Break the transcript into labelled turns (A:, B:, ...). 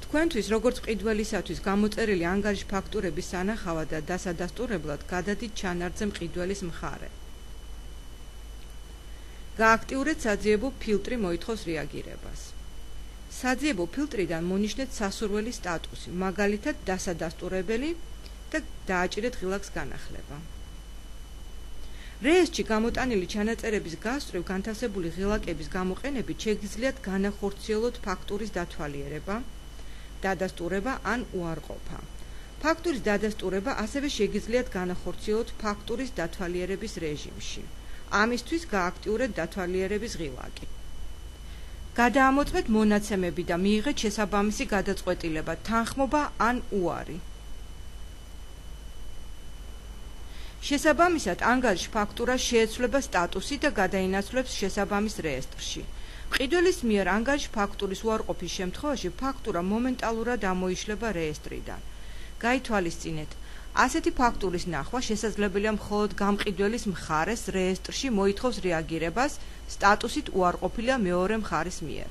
A: თქვენთვის როგორც მყიდველისათვის გამოწერილი ანგარიშ ფაქტურების სანახავად და დასადასტურებლად გადადით ჩანართზე მყიდველის მხარე. გააქტიურეთ საძიებო ფილტრი მოითხოვს რეაგირებას. საძიებო ფილტრიდან მონიშნეთ სასურველი სტატუსი, მაგალითად დასადასტურებელი და დააჭირეთ ღილაკს განახლება. რეესტრში გამოტანილი ჩანაწერების გასწვრივ განთავსებული ღილაკების გამოყენებით შეგიძლიათ განახორციელოთ ფაქტურის დათვალიერება, დადასტურება ან უარყოფა. ფაქტურის დადასტურება ასევე შეგიძლიათ განახორციელოთ ფაქტურის დათვალიერების რეჟიმში. ამისთვის გააქტიურეთ დათვალიერების ღილაკი. გადაამოწმეთ მონაცემები და მიიღეთ შესაბამისი გადაწყვეტილება, თანხმობა ან უარი. შესაბამისად, ანგარიშ ფაქტურას შეეცვლება სტატუსი და გადაინაცვლებს შესაბამის რეესტრში. მყიდველის მიერ ანგარიშ ფაქტურის უარყოფის შემთხვევაში ფაქტურა მომენტალურად ამოიშლება რეესტრიდან. გაითვალისწინეთ, ასეთი ფაქტურის ნახვა შესაძლებელია მხოლოდ გამყიდველის მხარეს რეესტრში მოითხოვს რეაგირებას, სტატუსით უარყოფილია მეორე მხარის მიერ.